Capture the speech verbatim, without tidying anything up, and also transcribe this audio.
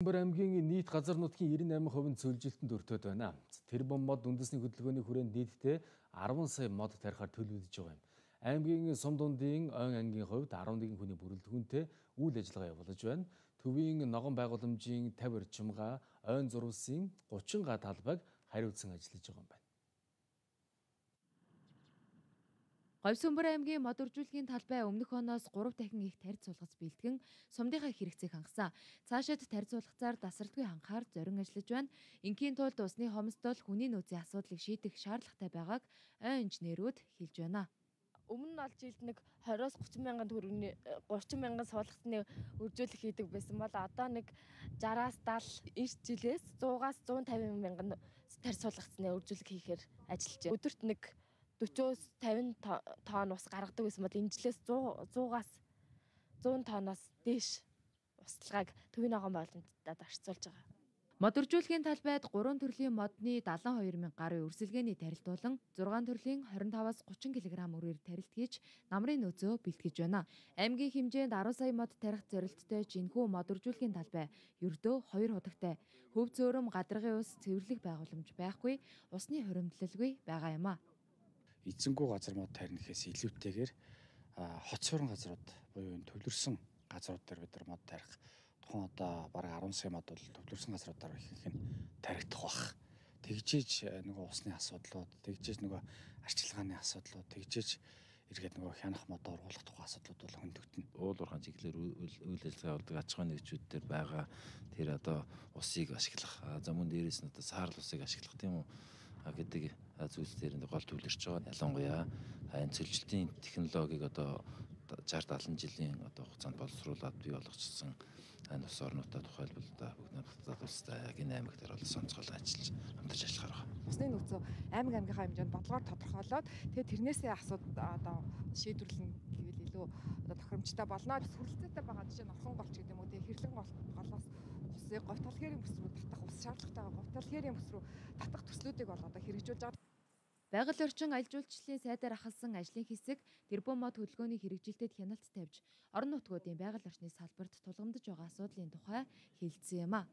Бор аймгийн нийт газар нутгийн девяносто восемь хувь нь цөлжилтөнд өртөөд байна. Тэрбум мод үндэсний хөдөлгөөний хүрээнд нийтдээ арван сая мод тарихаар төлөвлөж байгаа юм. Аймгийн сум дундын ойн ангийн хувьд арван нэгэн хүний бүрэлдэхүүнтэй үйл ажиллагаа явуулж байна. Төвийн ногоон байгууламжийн тавь орчим га, ойн зурвасын гучин га талбайг хариуцсан ажиллаж байгаа юм байна. Говьсөнбөр аймгийн мод үржүүлгийн талбай өмнөх оноос гурав дахин их тарьц суулгац бэлтгэн сумдынхаа хэрэгцээг хангасан. Цаашид тарьц суулгацаар тасралтгүй хангахаар зорин ажиллаж байна. Ингийн тулд усны хомсдол хүний нөөцийн асуудлыг шийдэх шаардлагатай байгааг ойн инженерүүд хэлж байна. Өмнө нь олж жилд нэг двадцоос гучин мянган төгрөгийн гучин мянган суулгацны үржүүлэх хийдэг байсан бол одоо нэг жараас даал эрт жилээс суугаас зуун тавин мянган тарьц суулгацны үржүүлэх хийхээр ажиллаж байна. Өдөрт нэг дөрвөөс тавин тонн ус гаргадаг байсан бол энэ жилээс суугаас зуун тонноос дээш усталгааг төвийн ногоон байгууламжтад орцуулж байгаа. Мод үржүүлгийн талбайд гурван төрлийн модны дадлан хоёр мянга гаруй өрсөлгээний тарилт болон зургаан төрлийн хорин таваас гучин килограмм үрээр тарилт хийж намрын нөөцөө бэлтгэж байна. Аймгийн хэмжээнд арван сая мод тарих зорилттой жинхүү мод үржүүлгийн талбай ердөө хоёр худагтай. Хөв зөөрөм гадаргын ус цэвэрлэх байгууламж байхгүй, усны хуримтлалгүй байгаа юм а. Эзэнгүү газар мод тарих гэхээс илүүтэйгээр хот суурин газрууд буюу энэ төвлөрсөн газрууд дээр бид нар мод тарих тухайн одоо бараг арван сая мод бол төвлөрсөн газруудаар ихэнх нь таригдах бах. Тэгжээж нөгөө усны асуудлууд, тэгжээж нөгөө арчилгааны асуудлууд, тэгжээж эргээд нөгөө хянах модоор ургуулах тухай асуудлууд бол хөндөгдөн. Уул уурхайн чиглэлээр үйл ажиллагаа явуулдаг аж ахуйн нэгжүүд дээр байгаа тэр одоо усыг ашиглах, за мөн дээрээс нь одоо саарл усыг ашиглах тийм үү гэдэг зүйлс дээр гол төвлөрч байгаа. Ялангуяа энэ цөлжилтийн технологиг одоо шестьдесят седем жилийн одоо хугацаанд боловсруулад бий болгочихсон энэ ус орнуудаа тухайлбал одоо бүгд надад улстай яг энэ аймаг дээр бол сонцгол ажиллаж хамтарч ажиллахаар байна. Усны нөөцөө аймаг аймгийнхаа хэмжээнд бодлогоор тодорхойлоод тэгээд тэрнээсээ асууд одоо шийдвэрлэн гэвэл илүү одоо тохиромжтой болно. Сүрэлцээтэй байгаа жишээ нь орхон голч гэдэг юм уу, тэгээд хэрлэн голоос усыг говь толгойрын бүс рүү татах ус шаардлагатайгаа говь толгойрын бүс рүү татах төслүүдийг бол одоо хэрэгжүүлж байгаа. Байгаль орчин аялал жуулчлалын сайдаар ахалсан ажлын хэсэг тэрбум мод хөдөлгөөний хэрэгжилтэд хяналт тавьж орон нутгуудын байгаль орчны салбарт тулгамдж байгаа асуудлын тухай хэлсэн юм а.